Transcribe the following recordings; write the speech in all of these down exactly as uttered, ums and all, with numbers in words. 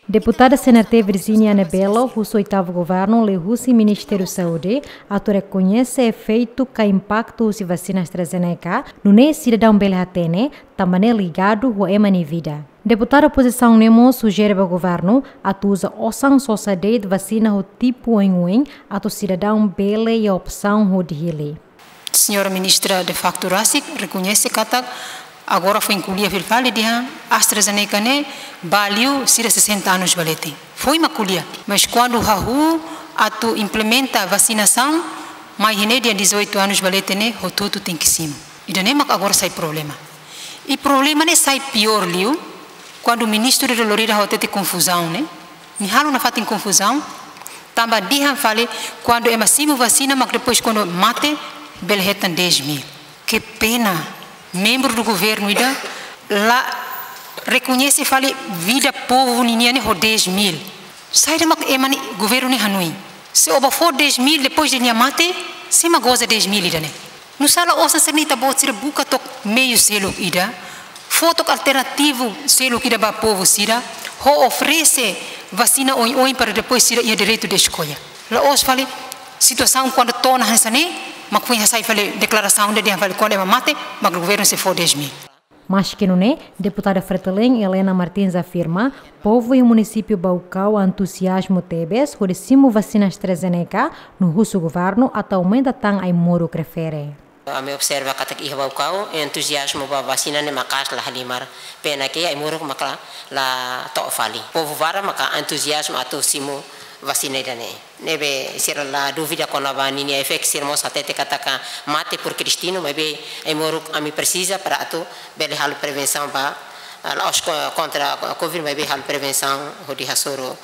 Deputada C N R T Virginia Nebelo husu oitavu governu liuhusi Ministériu Saúde atu rekoñese efeitu ka impaktu husi vasina AstraZeneca, nune'e sidadaun bele hatene, tanba ne'e ligadu ho ema nia vida. Deputada opozisaun ne'e mós sujere ba governu atu uza osan sosa de'it vasina ho tipu oin-oin atu sidadaun bele iha opsaun hodi hili. Señora Ministra de facto rasik rekoñese katak agora foin ko'alia fila fali dehan AstraZeneca ne'e ba liu sira sessenta anos ba leten. Foin mak ko'alia, mas kuandu hahú atu implementa vasinasaun, mai iha ne'e dehan dezoito anos ba leten ne'e hotu-hotu tenke simu. Ida-ne'e mak agora sai problema. I problema ne'e sai piór liu, kuandu ministru de Lorida hatete konfuzaun ne'e, nia halo nafatin konfuzaun, tanba dehan fali kuandu ema simu vasina mak depois kuandu mate bele hetan dez mil. Que pena, membru do governu ida la rekoñese fali vida povu ninian ne'e ho dez mil. Saida mak ema ne'e, governu ne'e hanoin? Se ó bá fó dez mil depois de nia mate, sé mak goza dez mil ida-ne'e? Nusá la'ós hanesan ne'e, ita-boot sira buka took meiu seluk ida, fó took alternativu seluk ida ba povu sira, ho oferese vasina oin-oin para depois sira iha direitu de eskolha. La'ós fali situasaun kuandu to'o ona hanesan ne'e, mak foin hasai fali deklarasaun ida dehan fali kuandu ema mate, mak governu sei fó dez mil. Maski nune'e, deputada Fretilin Helena Martins afirma, povu iha munisípiu Baucau entuziazmu tebes hodi simu vasina AstraZeneca, no husu governu atu aumenta tan ai-moruk refere. Ami observa katak iha Baucau entuziazmu ba vasina ne'e maka'as, la halimar, pena ke ai-moruk maka la, la to'o fali. Povu barak maka entuziazmu atu simu vasina ida-ne'e. Ne'ebé sira la dúvida kona-ba ninia efeitu, sira mós hatete katak mate porque destinu, maibé ai-moruk ami presiza para atu bele halo prevensaun ba, ah, la'ós ko-, kontra covid, maibé halo prevensaun hodi hasoru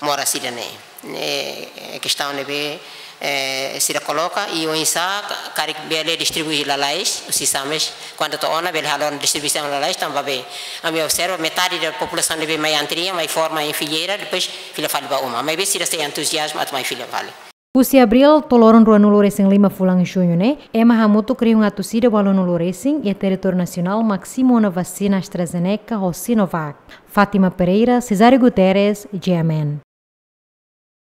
moras ida-ne'e. Ne'e kestaun ne'ebé, eh, sira koloka i oinsá ka-, karik bele distribui lalais, husi SAMES, kuandu to'o ona bele halo distribuisaun lalais, tanba be ami observa metade da populasaun ne'ebé mai antrian, mai forma em fileira, depois fila fali ba uma. Maibé sira sei entuziazmu atu mai fila fali. Husi abríl to'o loron ruanulu-resin-lima fulan juñu ne'e, ema hamutuk rihun atus ida ualunulu-resin iha territóriu nasionál mak simu ona vasina AstraZeneca ho Sinovac. Fátima Pereira, Cesário Guterres, G M N.